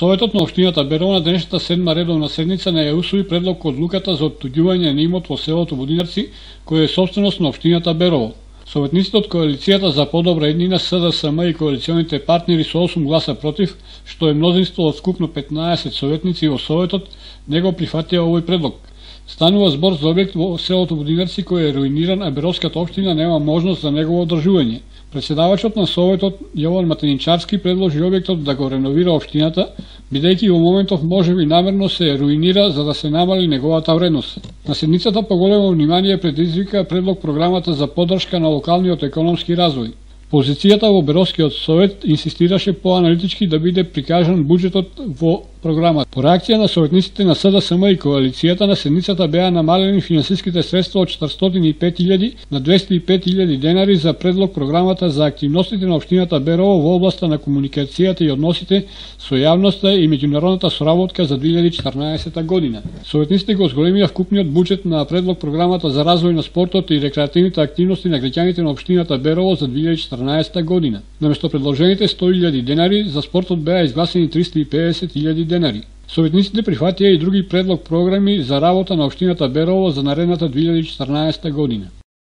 Советот на општината Берово на денешната 7-ма редовна седница не ја усвои предлог одлуката за оттуѓување на имот во селото Водинарци, кој е собственост на општината Берово. Советниците од коалицијата за подобра еднина СДСМ и коалиционите партнери со 8 гласа против, што е мнозинство од скупно 15 советници во Советот, не го прифатија овој предлог. Станува збор за објект во селото Водинарци кој е руиниран, а Беровската општина нема можност за негово одржување. Председавачот на Советот Јован Матеничарски предложи објектот да го реновира општината, бидејќи во моментов можеби намерно се руинира за да се намали неговата вредност. На седницата поголемо внимание предизвика предлог програмата за поддршка на локалниот економски развој. Позицијата во Беровскиот совет инсистираше поаналитички да биде прикажан буџетот во програмата. По реакција на советниците на СДСМ и коалицијата на седницата беа намалени финансиските средства од 405.000 на 205.000 денари за предлог програмата за активностите на општината Берово во областа на комуникацијата и односите со јавноста и меѓународната соработка за 2014 година. Советниците го зголемија вкупниот буџет на предлог програмата за развој на спортот и рекреативните активности на граѓаните на општината Берово за 2014 година. Наместо предложените 100.000 денари, за спортот беа изгласени 350.000 денари. Советниците прифатија и други предлог програми за работа на општината Берово за наредната 2014 година.